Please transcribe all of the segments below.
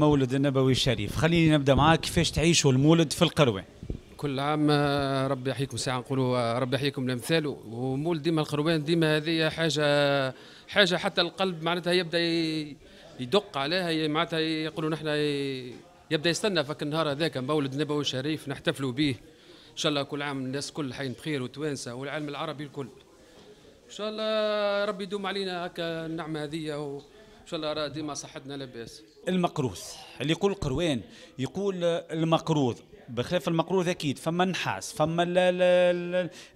المولد النبوي الشريف. خليني نبدا معاك، كيفاش تعيشوا المولد في القروان؟ كل عام ربي يحييكم، ساعة نقولوا ربي يحييكم الامثال. ومولد ديما القروان ديما هذه حاجة حتى القلب معناتها يبدا يدق عليها، معناتها يقولوا نحن يبدا يستنى فك النهار هذاك مولد النبوي الشريف نحتفلوا به. ان شاء الله كل عام الناس كل حين بخير وتوانسه والعالم العربي الكل. ان شاء الله ربي يدوم علينا هكا النعمة هذه، وان شاء الله ديما صحتنا لاباس. المقروض اللي يقول القروان يقول المقروض، بخلاف المقروض اكيد فما النحاس، فما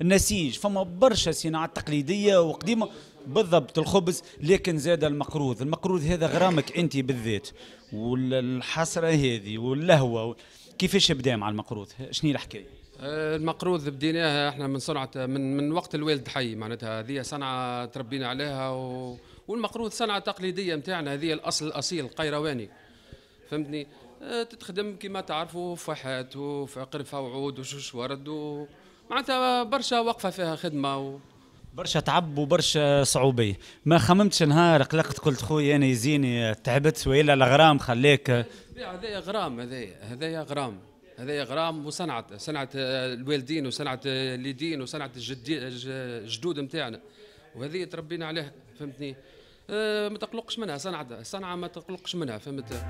النسيج، فما برشا صناعات تقليدية وقديمة بالضبط الخبز، لكن زاد المقروض. المقروض هذا غرامك انت بالذات، والحسرة هذه واللهوه، كيفاش بدا مع المقروض؟ شنو الحكاية؟ المقروض بديناها احنا من صنعه من وقت الوالد حي، معناتها هذه صنعه تربينا عليها والمقروض صنعه تقليدية نتاعنا، هذه الاصل الاصيل القيرواني، فهمتني؟ تتخدم كما تعرفوا فحات وقرفه وعود وشوش ورد معناتها برشا وقفه فيها خدمة برشا تعب وبرشا صعوبيه. ما خممتش نهار قلقت قلت خويا انا يزيني تعبت والا الغرام خليك؟ هذايا غرام، هذايا غرام، هذايا غرام وصنعت صنعت الوالدين وصنعت اليدين وصنعت الجدود نتاعنا، وهذه تربينا عليها، فهمتني؟ ما تقلقش منها، صنعه ما تقلقش منها، فهمت؟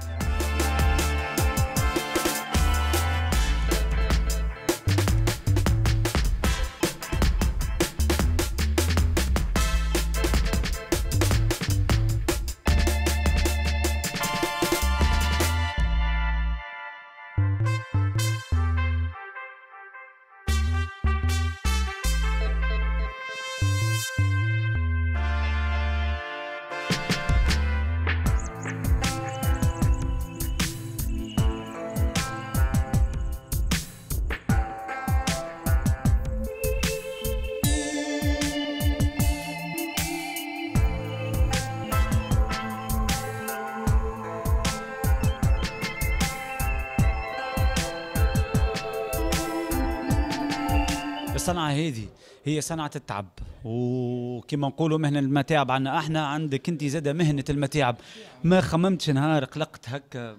الصنعة هذه هي صنعة التعب، وكما نقولوا مهنة المتاعب عندنا احنا، عندك انت زادة مهنة المتاعب. ما خممتش نهار قلقت هكا؟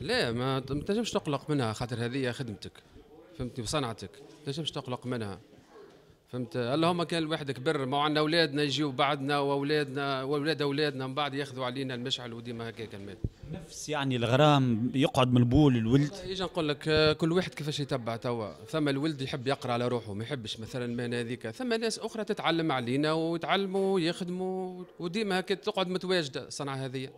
لا، ما تنجمش تقلق منها، خاطر هذه خدمتك، فهمتني، وصنعتك، ما تنجمش تقلق منها، فهمت؟ اللهم كان الواحد كبر، ما عندنا اولادنا يجيو بعدنا واولادنا واولاد اولادنا من بعد ياخذوا علينا المشعل، وديما هكاك المال. نفس يعني الغرام يقعد من البول الولد. اجا نقول لك كل واحد كيفاش يتبع توا، ثم الولد يحب يقرا على روحه، ما يحبش مثلا المهنة هذيك، ثم ناس اخرى تتعلم علينا ويتعلموا ويخدموا، وديما هكا تقعد متواجدة الصنعة هذه.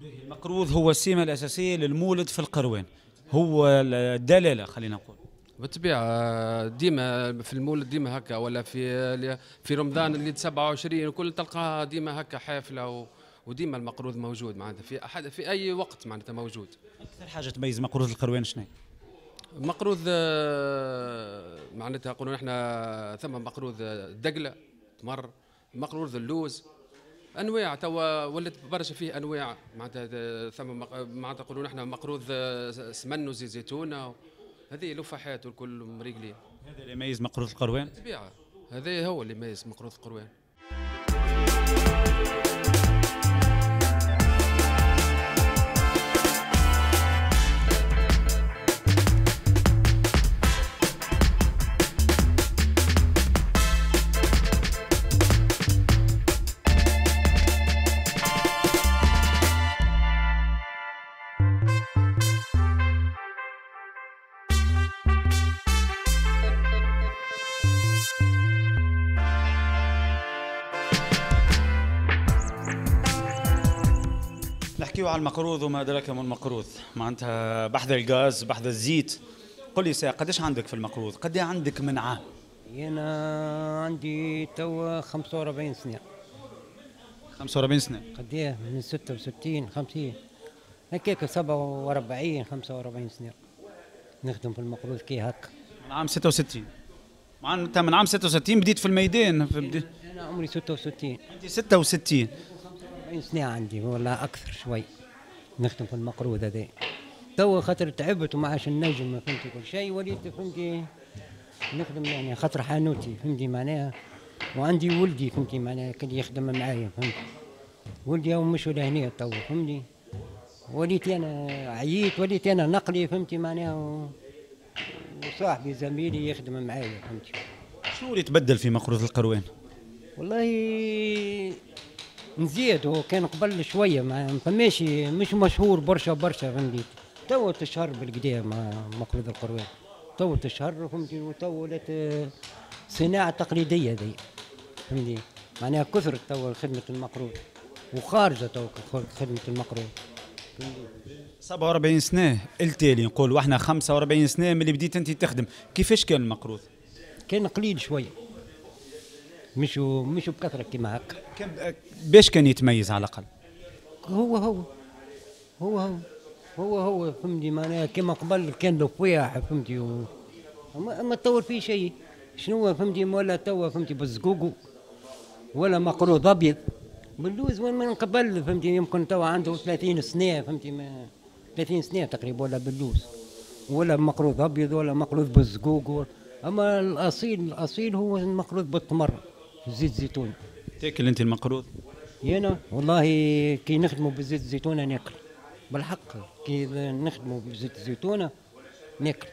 المقروض هو السمة الاساسية للمولد في القروان، هو الدلالة خلينا نقول. بالطبيعة ديما في المولد ديما هكا، ولا في رمضان اللي 27 وكل تلقاها ديما هكا حافلة وديما المقروض موجود، معناتها في احد في اي وقت معناتها موجود. اكثر حاجة تميز مقروض القروان شنو؟ مقروض معناتها نقولوا نحن ثم مقروض الدقله، تمر، مقروض اللوز، انواع توا ولات برشا فيه انواع، معناتها ثم معناتها نقولوا نحن مقروض سمن وزيت زيتونه، هذه لفحات والكل مريقلين. هذا اللي يميز مقروض القروان؟ بالطبيعة هذا هو اللي يميز مقروض القروان. نحكيو على المقروض وما أدراك ما المقروض، معناتها بحذا الغاز بحذا الزيت. قل لي ساعة قداش عندك في المقروض؟ قد عندك من عام؟ أنا عندي توا 45 سنة. 45 سنة؟ قد من 66 50 هكاك 47 45 سنة نخدم في المقروض كي هكا. من عام 66؟ معناتها من عام 66 بديت في الميدان. أنا عمري 66. أنت 66؟ 40 سنة عندي ولا أكثر شوي نخدم في المقروض هذا. توا خاطر تعبت وما عادش نجم، فهمتي، كل شيء وليت فهمتي نخدم يعني خاطر حانوتي، فهمتي معناها، وعندي ولدي فهمتي معناها كان يخدم معايا، فهمتي، ولدي هو مش لهنا توا، فهمتي، وليت انا عييت، وليت انا نقلي فهمتي معناها، وصاحبي زميلي يخدم معايا فهمتي. شنو اللي تبدل في مقروض القروان؟ والله نزيد، هو كان قبل شوية ما فماش، مش مشهور برشا برشا فهمتي. تو تشهر بالقدا مع مقروض القروان، تو تشهر فهمتي، وتو ولات صناعة تقليدية ذي فهمتي، معناها كثرت تو خدمة المقروض وخارجه تو خدمة المقروض. 47 سنة التالي نقول، واحنا 45 سنة من اللي بديت انت تخدم، كيفاش كان المقروض؟ كان قليل شوية، مش بكثرة كيما هكا. كان باش كان يتميز على الاقل؟ هو هو هو هو هو هو فهمتي، معناها كيما قبل كان الفواح فهمتي، ما تطور فيه شيء. شنو فهمتي ولا توا فهمتي بالزقوقو ولا مقروض ابيض باللوز وين من قبل فهمتي، يمكن توا عنده 30 سنة فهمتي، ما 30 سنة تقريبا ولا باللوز ولا مقروض ابيض ولا مقروض بالزقوق. اما الاصيل هو المقروض بالتمر زيت زيتون. تاكل انت المقروض؟ انا والله كي نخدموا بزيت الزيتونه ناكل بالحق، كي نخدموا بزيت الزيتونه ناكل.